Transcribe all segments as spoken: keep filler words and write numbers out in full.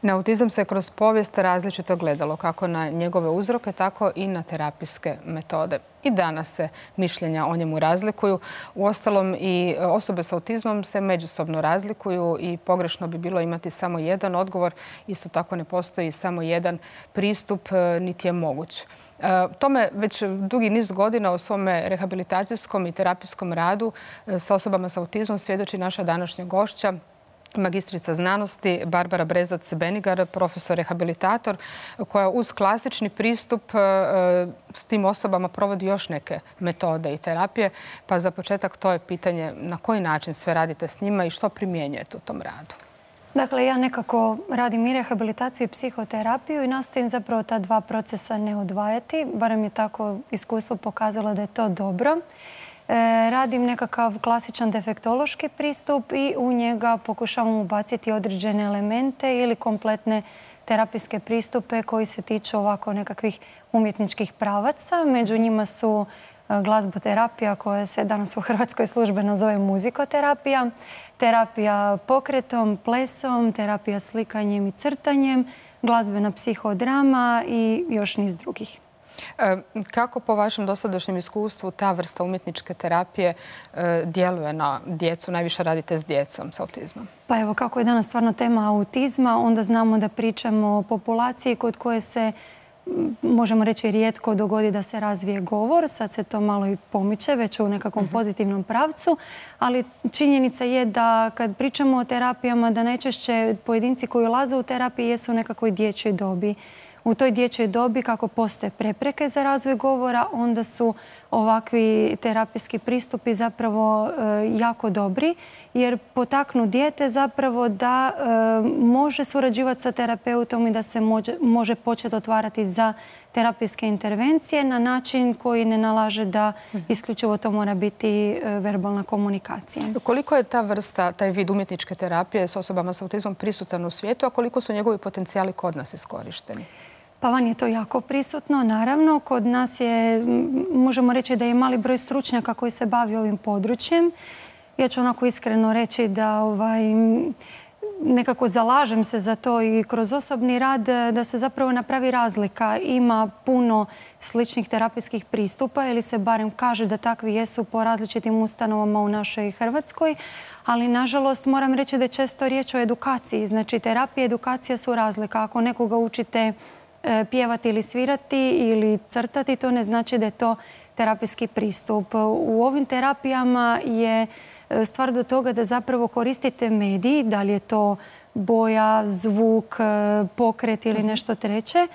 Na autizam se kroz povijest različito gledalo, kako na njegove uzroke, tako i na terapijske metode. I danas se mišljenja o njemu razlikuju. Uostalom i osobe s autizmom se međusobno razlikuju i pogrešno bi bilo imati samo jedan odgovor. Isto tako ne postoji samo jedan pristup, niti je moguć. Tome već dugi niz godina u svome rehabilitacijskom i terapijskom radu sa osobama s autizmom svjedoči naša današnja gošća, magistrica znanosti Barbara Brezac-Benigar, profesor rehabilitator, koja uz klasični pristup s tim osobama provodi još neke metode i terapije. Pa za početak to je pitanje na koji način sve radite s njima i što primjenjujete u tom radu. Dakle, ja nekako radim i rehabilitaciju i psihoterapiju i nastojim zapravo ta dva procesa ne odvajati. Barem je tako iskustvo pokazalo da je to dobro. Radim nekakav klasičan defektološki pristup i u njega pokušavam ubaciti određene elemente ili kompletne terapijske pristupe koji se tiču ovako nekakvih umjetničkih pravaca. Među njima su glazboterapija koja se danas u Hrvatskoj službeno zove muzikoterapija, terapija pokretom, plesom, terapija slikanjem i crtanjem, glazbena psihodrama i još niz drugih. Kako po vašem dosadašnjem iskustvu ta vrsta umjetničke terapije djeluje na djecu? Najviše radite s djecom s autizmom. Pa evo, kako je danas stvarno tema autizma, onda znamo da pričamo o populaciji kod koje se, možemo reći, rijetko dogodi da se razvije govor. Sad se to malo i pomiče, već u nekakvom pozitivnom pravcu. Ali činjenica je da kad pričamo o terapijama, da najčešće pojedinci koji ulaze u terapiju jesu u nekakvoj dječjoj dobi. U toj dječjoj dobi, kako postoje prepreke za razvoj govora, onda su ovakvi terapijski pristupi zapravo jako dobri, jer potaknu dijete zapravo da može surađivati sa terapeutom i da se može, može početi otvarati za terapijske intervencije na način koji ne nalaže da isključivo to mora biti verbalna komunikacija. Koliko je ta vrsta, taj vid umjetničke terapije s osobama s autizmom prisutan u svijetu, a koliko su njegovi potencijali kod nas iskorišteni? Pa van je to jako prisutno, naravno. Kod nas je, možemo reći da je mali broj stručnjaka koji se bavi ovim područjem. Ja ću onako iskreno reći da ovaj, nekako zalažem se za to i kroz osobni rad da se zapravo napravi razlika. Ima puno sličnih terapijskih pristupa ili se barem kaže da takvi jesu po različitim ustanovama u našoj Hrvatskoj. Ali, nažalost, moram reći da je često riječ o edukaciji. Znači, terapija i edukacija su razlika. Ako nekoga učite pjevati ili svirati ili crtati, to ne znači da je to terapijski pristup. U ovim terapijama je stvar do toga da zapravo koristite medij, da li je to boja, zvuk, pokret ili nešto treće.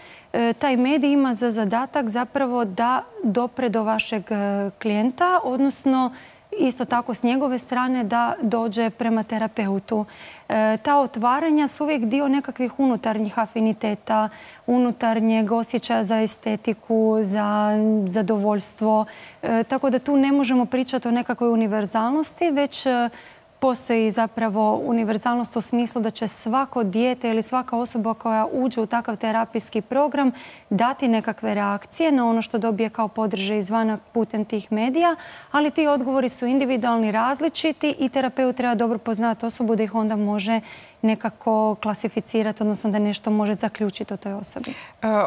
Taj medij ima za zadatak zapravo da dopre do vašeg klijenta, odnosno isto tako s njegove strane da dođe prema terapeutu. E, ta otvaranja su uvijek dio nekakvih unutarnjih afiniteta, unutarnjeg osjećaja za estetiku, za zadovoljstvo. E, tako da tu ne možemo pričati o nekakvoj univerzalnosti, već postoji zapravo univerzalnost u smislu da će svako dijete ili svaka osoba koja uđe u takav terapijski program dati nekakve reakcije na ono što dobije kao podrže izvana putem tih medija, ali ti odgovori su individualni, različiti i terapeut treba dobro poznati osobu da ih onda može nekako klasificirati, odnosno da nešto može zaključiti o toj osobi.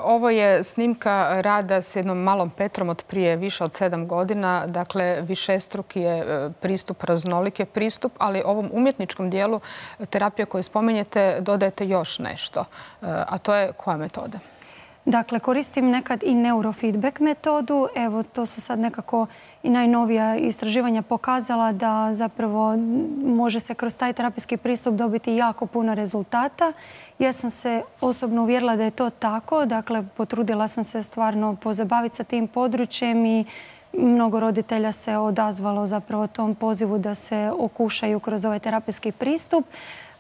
Ovo je snimka rada s jednom malom Petrom od prije više od sedam godina. Dakle, višestruki je pristup, raznolik je pristup, ali ovom umjetničkom dijelu terapije koju spominjete dodajete još nešto. A to je koja metoda? Dakle, koristim nekad i neurofeedback metodu. Evo, to su sad nekako i najnovija istraživanja pokazala da zapravo može se kroz taj terapijski pristup dobiti jako puno rezultata. Ja sam se osobno uvjerila da je to tako. Dakle, potrudila sam se stvarno pozabaviti sa tim područjem i mnogo roditelja se odazvalo zapravo tom pozivu da se okušaju kroz ovaj terapijski pristup.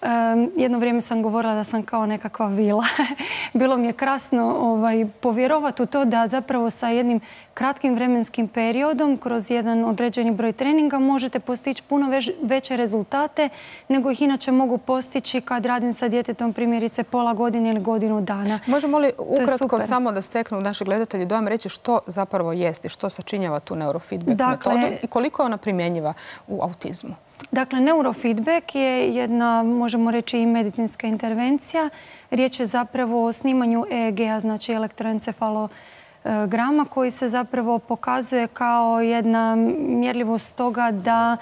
Um, jedno vrijeme sam govorila da sam kao nekakva vila. Bilo mi je krasno ovaj, povjerovati u to da zapravo sa jednim kratkim vremenskim periodom kroz jedan određeni broj treninga možete postići puno već, veće rezultate nego ih inače mogu postići kad radim sa djetetom primjerice pola godine ili godinu dana. Možemo li ukratko samo da steknu naši gledatelji dojam reći što zapravo jest i što sačinjava tu neurofeedback dakle, metodu i koliko je ona primjenjiva u autizmu? Dakle, neurofeedback je jedna, možemo reći, i medicinska intervencija. Riječ je zapravo o snimanju E E G-a, znači elektroencefalograma, koji se zapravo pokazuje kao jedna mjerljivost toga da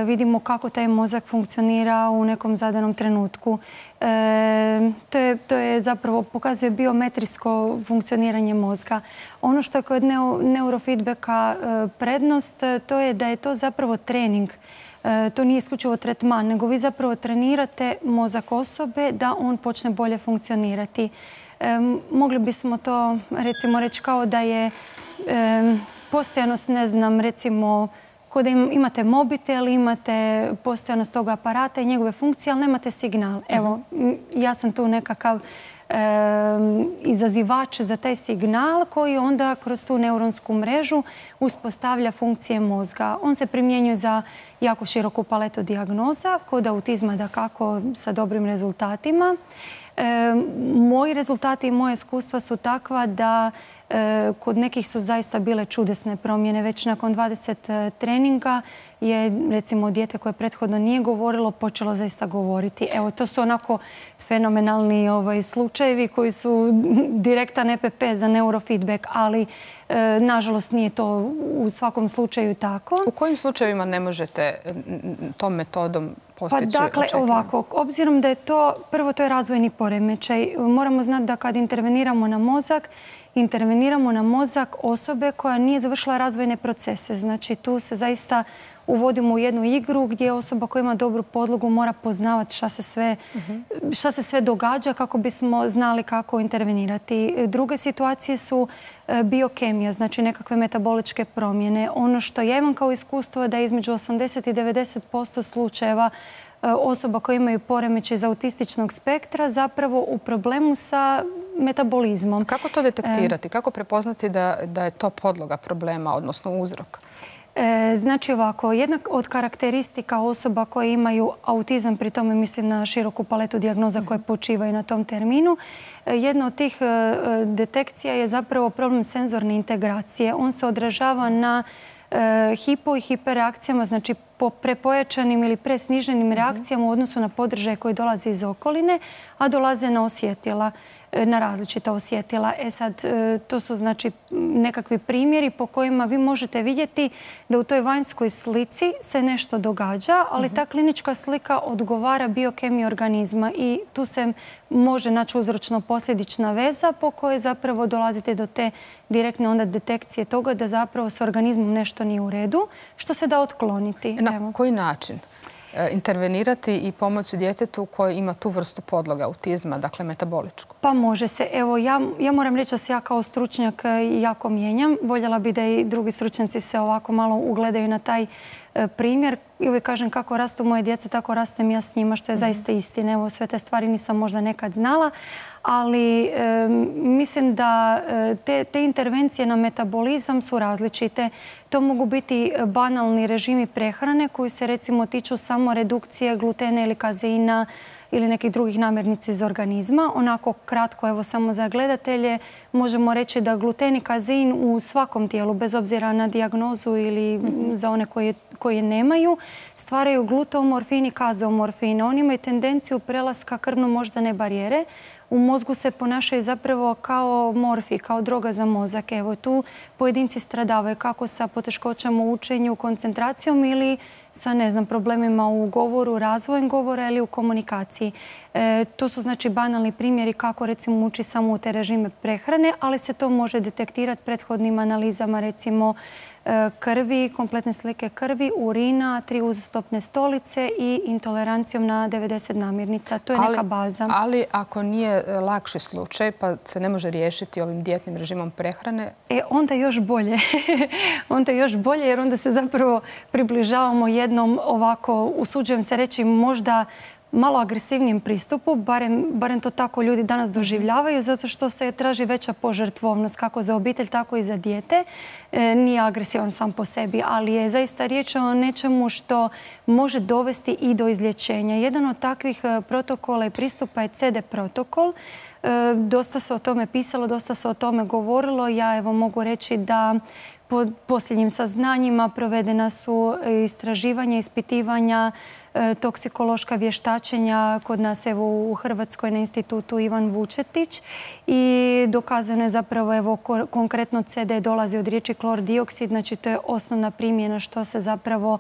vidimo kako taj mozak funkcionira u nekom zadanom trenutku. E, to, je, to je zapravo pokazuje biometrijsko funkcioniranje mozga. Ono što je kod neurofeedbacka prednost, to je da je to zapravo trening. To nije isključivo tretman, nego vi zapravo trenirate mozak osobe da on počne bolje funkcionirati. E, mogli bismo to recimo reći kao da je e, postojanost, ne znam, recimo kod da imate mobitel, imate postojanost tog aparata i njegove funkcije, ali nemate signal. Evo, ja sam tu nekakav e, izazivač za taj signal koji onda kroz tu neuronsku mrežu uspostavlja funkcije mozga. On se primjenjuje za jako široku paletu dijagnoza, kod autizma dakako sa dobrim rezultatima. E, moji rezultati i moje iskustva su takva da e, kod nekih su zaista bile čudesne promjene. Već nakon dvadeset treninga je, recimo, dijete koje prethodno nije govorilo počelo zaista govoriti. Evo, to su onako fenomenalni ovaj, slučajevi koji su direktan E P P za neurofeedback, ali e, nažalost nije to u svakom slučaju tako. U kojim slučajevima ne možete tom metodom postići? Pa dakle, ovako, obzirom da je to, prvo to je razvojni poremećaj, moramo znati da kad interveniramo na mozak, interveniramo na mozak osobe koja nije završila razvojne procese. Znači, tu se zaista uvodimo u jednu igru gdje osoba koja ima dobru podlogu mora poznavati šta se sve, šta se sve događa kako bismo znali kako intervenirati. Druge situacije su biokemija, znači nekakve metaboličke promjene. Ono što ja imam kao iskustvo je da između osamdeset i devedeset posto slučajeva osoba koje imaju poremećaj iz autističnog spektra zapravo u problemu sa metabolizmom. Kako to detektirati? Kako prepoznati da, da je to podloga problema, odnosno uzrok? E, znači ovako, jedna od karakteristika osoba koje imaju autizam, pri tome mislim na široku paletu dijagnoza koje počivaju na tom terminu, jedna od tih e, detekcija je zapravo problem senzorne integracije. On se odražava na e, hipo i hiperreakcijama, znači po prepojačanim ili presniženim reakcijama u odnosu na podržaje koji dolaze iz okoline, a dolaze na osjetila, na različita osjetila. E sad, to su znači nekakvi primjeri po kojima vi možete vidjeti da u toj vanjskoj slici se nešto događa, ali ta klinička slika odgovara biokemiji organizma i tu se može naći uzročno-posljedična veza po kojoj zapravo dolazite do te direktne onda detekcije toga da zapravo s organizmom nešto nije u redu, što se da otkloniti. Na Evo. koji način intervenirati i pomoći djetetu koji ima tu vrstu podloga autizma, dakle metaboličku? Pa može se. Evo, ja, ja moram reći da se ja kao stručnjak jako mijenjam. Voljela bi da i drugi stručnjaci se ovako malo ugledaju na taj primjer. I uvijek kažem kako rastu moje djece, tako rastem ja s njima, što je mm-hmm. zaista istina. Evo, sve te stvari nisam možda nekad znala, ali e, mislim da te, te intervencije na metabolizam su različite. To mogu biti banalni režimi prehrane koji se recimo tiču samo redukcije glutena ili kazeina ili nekih drugih namirnica iz organizma. Onako kratko, evo samo za gledatelje, možemo reći da gluten i kazein u svakom tijelu, bez obzira na dijagnozu ili mm-hmm. za one koje, koje nemaju, stvaraju glutomorfin i kazeomorfin. Oni imaju tendenciju prelaska krvno-moždane barijere. U mozgu se ponašaju zapravo kao morfi, kao droga za mozak. Evo, tu pojedinci stradavaju kako sa poteškoćama u učenju, koncentracijom ili sa, ne znam, problemima u govoru, razvojem govora ili u komunikaciji. E, to su znači banalni primjeri kako recimo uči samo u te režime prehrane, ali se to može detektirati prethodnim analizama recimo krvi, kompletne slike krvi, urina, tri uzastopne stolice i intolerancijom na devedeset namirnica. To je ali, neka baza. Ali ako nije lakši slučaj pa se ne može riješiti ovim dijetnim režimom prehrane? E, onda još bolje. onda još bolje jer onda se zapravo približavamo jednom ovako, usuđujem se reći, možda malo agresivnijem pristupu, barem, barem to tako ljudi danas doživljavaju, zato što se traži veća požrtvovnost kako za obitelj, tako i za dijete. E, nije agresivan sam po sebi, ali je zaista riječ o nečemu što može dovesti i do izlječenja. Jedan od takvih protokola i pristupa je C D protokol. E, dosta se o tome pisalo, dosta se o tome govorilo. Ja evo mogu reći da po posljednjim saznanjima provedena su istraživanja, ispitivanja, toksikološka vještačenja kod nas evo u Hrvatskoj na institutu Ivan Vučetić i dokazano je zapravo evo konkretno C D dolazi od riječi klor dioksid, znači to je osnovna primjena što se zapravo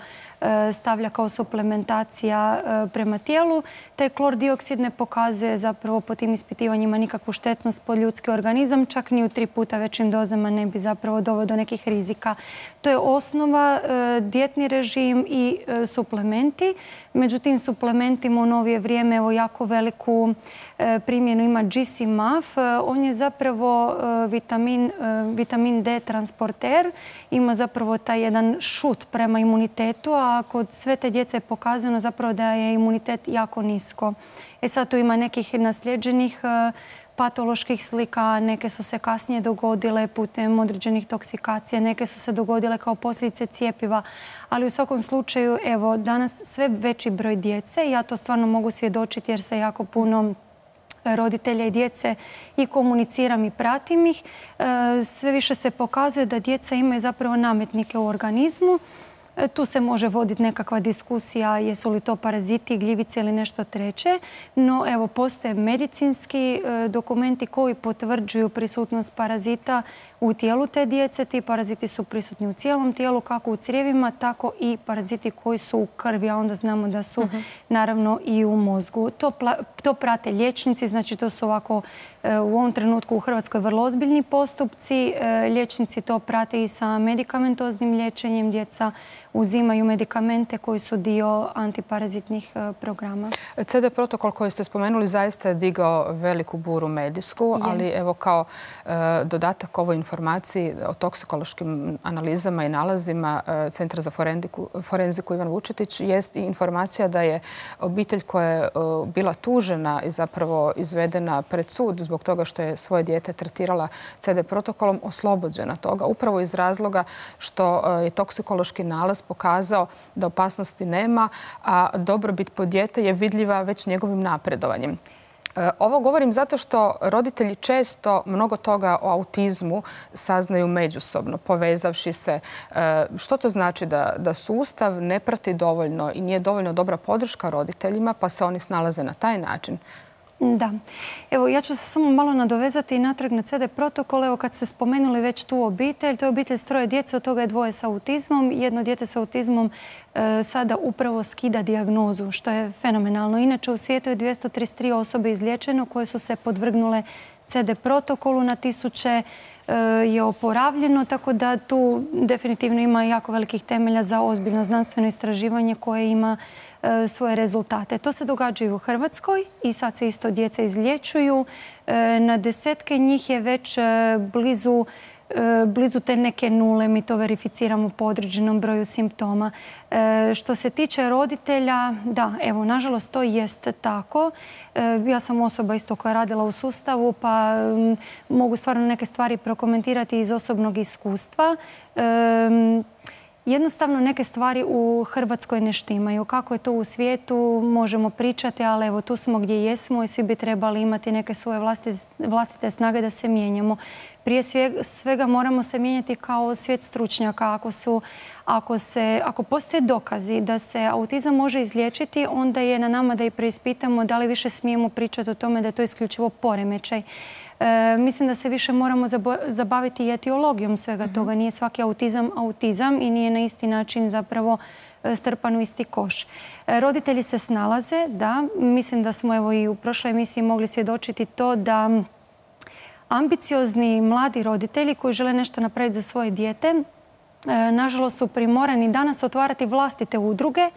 stavlja kao suplementacija prema tijelu. Taj klor dioksid ne pokazuje zapravo po tim ispitivanjima nikakvu štetnost po ljudski organizam, čak ni u tri puta većim dozama ne bi zapravo doveo do nekih rizika. To je osnova, dijetni režim i suplementi. Međutim, suplementima u novije vrijeme evo jako veliku primjenu ima G C M A F. On je zapravo vitamin, vitamin D transporter. Ima zapravo taj jedan šut prema imunitetu, a kod sve te djece je pokazano zapravo da je imunitet jako nisko. E sad tu ima nekih nasljeđenih patoloških slika, neke su se kasnije dogodile putem određenih toksikacija, neke su se dogodile kao posljedice cijepiva, ali u svakom slučaju, evo, danas sve veći broj djece, ja to stvarno mogu svjedočiti jer se jako puno roditelja i djece i komuniciram i pratim ih, sve više se pokazuje da djeca imaju zapravo nametnike u organizmu. Tu se može voditi nekakva diskusija jesu li to paraziti, gljivice ili nešto treće, no evo postoje medicinski dokumenti koji potvrđuju prisutnost parazita u tijelu te djece. Ti paraziti su prisutni u cijelom tijelu, kako u crijevima, tako i paraziti koji su u krvi, a onda znamo da su uh-huh. naravno i u mozgu. To, to prate liječnici, znači to su ovako u ovom trenutku u Hrvatskoj vrlo ozbiljni postupci. Liječnici to prate i sa medikamentoznim liječenjem. Djeca uzimaju medikamente koji su dio antiparazitnih programa. C D protokol koji ste spomenuli zaista je digao veliku buru medijsku, je. ali evo kao e, dodatak ovoj informaciji o toksikološkim analizama i nalazima e, Centra za forenziku, forenziku Ivan Vučetić jest i informacija da je obitelj koja je e, bila tužena i zapravo izvedena pred sud zbog toga što je svoje dijete tretirala C D protokolom oslobođena toga. Upravo iz razloga što je toksikološki nalaz pokazao da opasnosti nema, a dobrobit po dijete je vidljiva već njegovim napredovanjem. Ovo govorim zato što roditelji često mnogo toga o autizmu saznaju međusobno, povezavši se. Što to znači da, da sustav ne prati dovoljno i nije dovoljno dobra podrška roditeljima, pa se oni snalaze na taj način? Da. Evo, ja ću se samo malo nadovezati i natrag na C D protokol. Evo, kad ste spomenuli već tu obitelj, to je obitelj s troje djece, od toga je dvoje sa autizmom. Jedno dijete sa autizmom e, sada upravo skida dijagnozu, što je fenomenalno. Inače, u svijetu je dvjesto trideset tri osobe izliječeno koje su se podvrgnule C D protokolu, na tisuće e, je oporavljeno, tako da tu definitivno ima jako velikih temelja za ozbiljno znanstveno istraživanje koje ima svoje rezultate. To se događa i u Hrvatskoj i sad se isto djeca izliječuju. Na desetke njih je već blizu, blizu te neke nule. Mi to verificiramo po određenom broju simptoma. Što se tiče roditelja, da, evo, nažalost to jest tako. Ja sam osoba isto koja je radila u sustavu, pa mogu stvarno neke stvari prokomentirati iz osobnog iskustva. Jednostavno neke stvari u Hrvatskoj ne štimaju. Kako je to u svijetu možemo pričati, ali evo tu smo gdje jesmo i svi bi trebali imati neke svoje vlastite, vlastite snage da se mijenjamo. Prije svega moramo se mijenjati kao svijet stručnjaka. Ako, su, ako, se, ako postoje dokazi da se autizam može izliječiti, onda je na nama da i preispitamo da li više smijemo pričati o tome da je to isključivo poremećaj. E, mislim da se više moramo zabaviti i etiologijom svega uh-huh. toga. Nije svaki autizam autizam i nije na isti način zapravo strpan u isti koš. E, roditelji se snalaze, da. Mislim da smo evo i u prošloj emisiji mogli svjedočiti to da ambiciozni mladi roditelji koji žele nešto napraviti za svoje dijete, e, nažalost su primorani danas otvarati vlastite udruge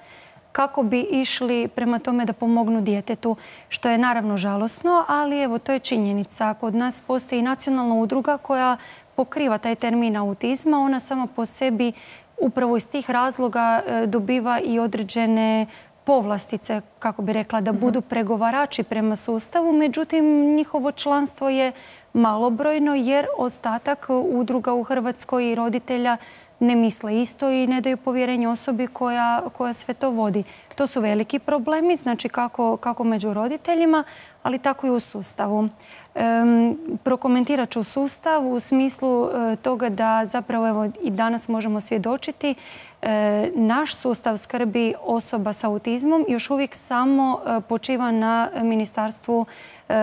kako bi išli prema tome da pomognu djetetu, što je naravno žalosno, ali evo to je činjenica. Kod nas postoji nacionalna udruga koja pokriva taj termin autizma. Ona sama po sebi upravo iz tih razloga dobiva i određene povlastice, kako bi rekla, da budu pregovarači prema sustavu. Međutim, njihovo članstvo je malobrojno jer ostatak udruga u Hrvatskoj i roditelja ne misle isto i ne daju povjerenje osobi koja, koja sve to vodi. To su veliki problemi, znači kako, kako među roditeljima, ali tako i u sustavu. Um, prokomentirat ću sustav u smislu uh, toga da zapravo evo, i danas možemo svjedočiti uh, naš sustav skrbi osoba s autizmom još uvijek samo uh, počiva na Ministarstvu uh,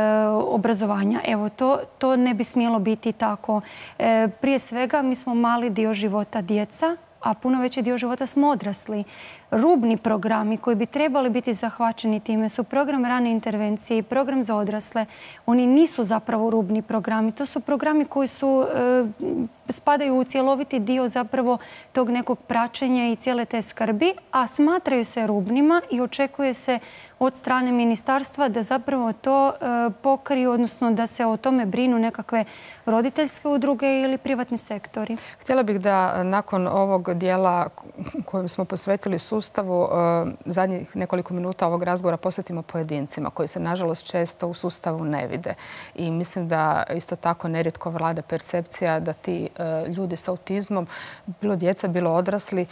obrazovanja. Evo, to, to ne bi smjelo biti tako. Uh, prije svega mi smo mali dio života djeca, a puno veći dio života smo odrasli. Rubni programi koji bi trebali biti zahvaćeni time su program rane intervencije i program za odrasle. Oni nisu zapravo rubni programi. To su programi koji su, e, spadaju u cjeloviti dio zapravo tog nekog praćenja i cijele te skrbi, a smatraju se rubnima i očekuje se od strane ministarstva da zapravo to e, pokriju, odnosno da se o tome brinu nekakve roditeljske udruge ili privatni sektori. Htjela bih da nakon ovog dijela kojem smo posvetili sustavu, zadnjih nekoliko minuta ovog razgovora posvetimo pojedincima koji se nažalost često u sustavu ne vide. I mislim da isto tako nerijetko vlada percepcija da ti ljudi s autizmom, bilo djeca, bilo odrasli,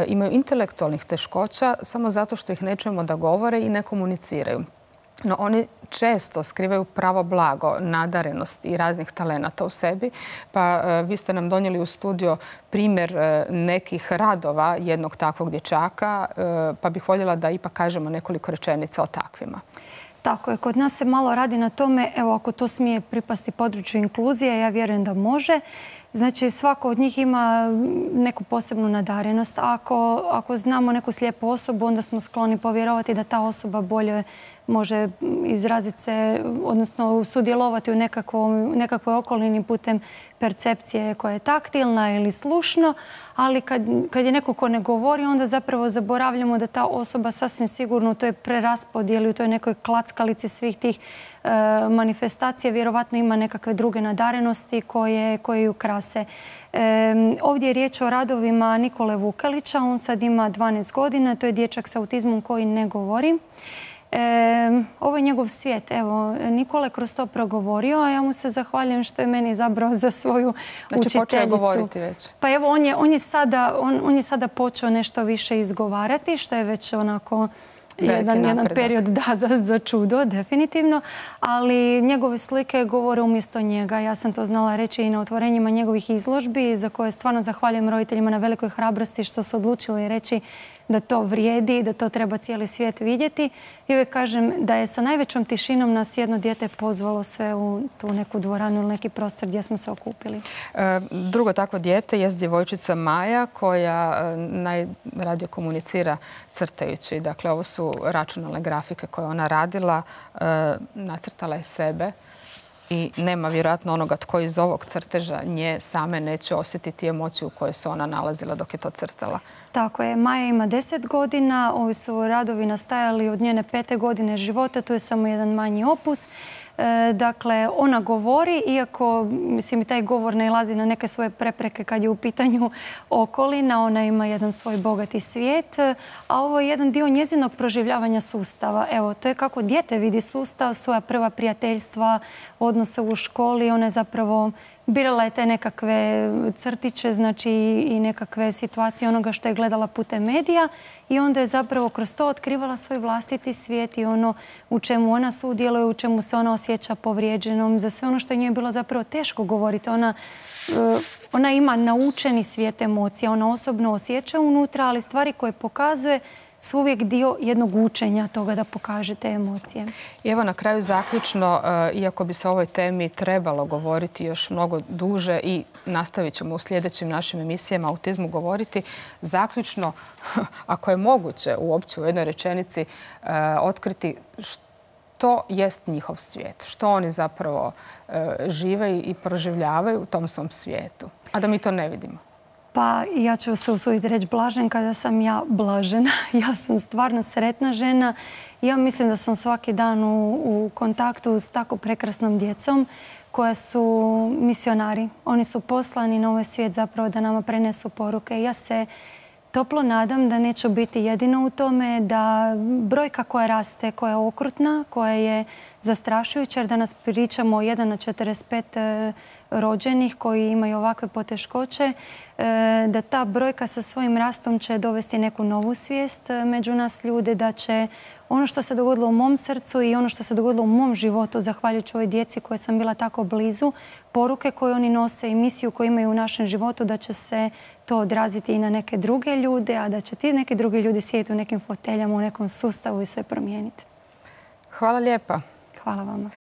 imaju intelektualnih teškoća samo zato što ih ne čujemo da govore i ne komuniciraju. No, oni često skrivaju pravo blago, nadarenost i raznih talenata u sebi. Pa vi ste nam donijeli u studio primjer nekih radova jednog takvog dječaka, pa bih voljela da ipak kažemo nekoliko rečenica o takvima. Tako je, kod nas se malo radi na tome, evo ako to smije pripasti području inkluzije, ja vjerujem da može. Znači, svako od njih ima neku posebnu nadarenost. Ako, ako znamo neku slijepu osobu, onda smo skloni povjerovati da ta osoba bolje može izraziti se, odnosno sudjelovati u nekakvoj okolini putem percepcije koja je taktilna ili slušno, ali kad, kad je neko ko ne govori, onda zapravo zaboravljamo da ta osoba sasvim sigurno u toj preraspodjeli, u toj nekoj klackalici svih tih e, manifestacija vjerovatno ima nekakve druge nadarenosti koje, koje ju krase. E, ovdje je riječ o radovima Nikole Vukelića, on sad ima dvanaest godina, to je dječak s autizmom koji ne govori. E, ovo je njegov svijet. Evo, Nikola je kroz to progovorio, a ja mu se zahvaljujem što je meni izabrao za svoju znači, učiteljicu. Počeo je govoriti već. Pa evo, on je, on je, sada, on, on je sada počeo nešto više izgovarati, što je već onako jedan, jedan period da, za, za čudo, definitivno. Ali njegove slike govore umjesto njega. Ja sam to znala reći i na otvorenjima njegovih izložbi, za koje stvarno zahvaljujem roditeljima na velikoj hrabrosti što su odlučili reći da to vrijedi, da to treba cijeli svijet vidjeti. I uvijek kažem da je sa najvećom tišinom nas jedno dijete pozvalo sve u tu neku dvoranu ili neki prostor gdje smo se okupili. E, drugo takvo dijete je djevojčica Maja koja najradije komunicira crtajući. Dakle, ovo su računalne grafike koje ona radila. E, nacrtala je sebe. I nema vjerojatno onoga tko iz ovog crteža nje same neće osjetiti emociju u kojoj se ona nalazila dok je to crtala. Tako je. Maja ima deset godina. Ovi su radovi nastajali od njene pete godine života. Tu je samo jedan manji opus. E, dakle, ona govori, iako mislim, i taj govor nailazi na neke svoje prepreke kad je u pitanju okolina. Ona ima jedan svoj bogati svijet, a ovo je jedan dio njezinog proživljavanja sustava. Evo, to je kako dijete vidi sustav, svoja prva prijateljstva, odnose u školi. Ona je zapravo birala je te nekakve crtiće, znači i nekakve situacije onoga što je gledala putem medija i onda je zapravo kroz to otkrivala svoj vlastiti svijet i ono u čemu ona sudjeluje, u čemu se ona osjeća povrijeđenom, za sve ono što je njoj bilo zapravo teško govoriti. Ona, ona ima naučeni svijet emocija, ona osobno osjeća unutra, ali stvari koje pokazuje su uvijek dio jednog učenja toga da pokaže te emocije. I evo na kraju zaključno, iako bi se o ovoj temi trebalo govoriti još mnogo duže i nastavit ćemo u sljedećim našim emisijama o autizmu govoriti, zaključno, ako je moguće uopće u jednoj rečenici otkriti što jest njihov svijet, što oni zapravo žive i proživljavaju u tom svom svijetu, a da mi to ne vidimo. Pa ja ću se usuditi reći blažen kada sam ja blažena. Ja sam stvarno sretna žena. Ja mislim da sam svaki dan u, u kontaktu s tako prekrasnom djecom koja su misionari. Oni su poslani na ovaj svijet zapravo da nama prenesu poruke. Ja se toplo nadam da neću biti jedino u tome, da brojka koja raste, koja je okrutna, koja je zastrašujuća, jer danas pričamo o jedan na četrdeset pet rođenih koji imaju ovakve poteškoće, da ta brojka sa svojim rastom će dovesti neku novu svijest među nas ljude, da će ono što se dogodilo u mom srcu i ono što se dogodilo u mom životu, zahvaljujući ovoj djeci koje sam bila tako blizu, poruke koje oni nose i misiju koju imaju u našem životu, da će se to odraziti i na neke druge ljude, a da će ti neki drugi ljudi sjediti u nekim foteljama, u nekom sustavu i sve promijeniti. Hvala lijepa. Hvala vama.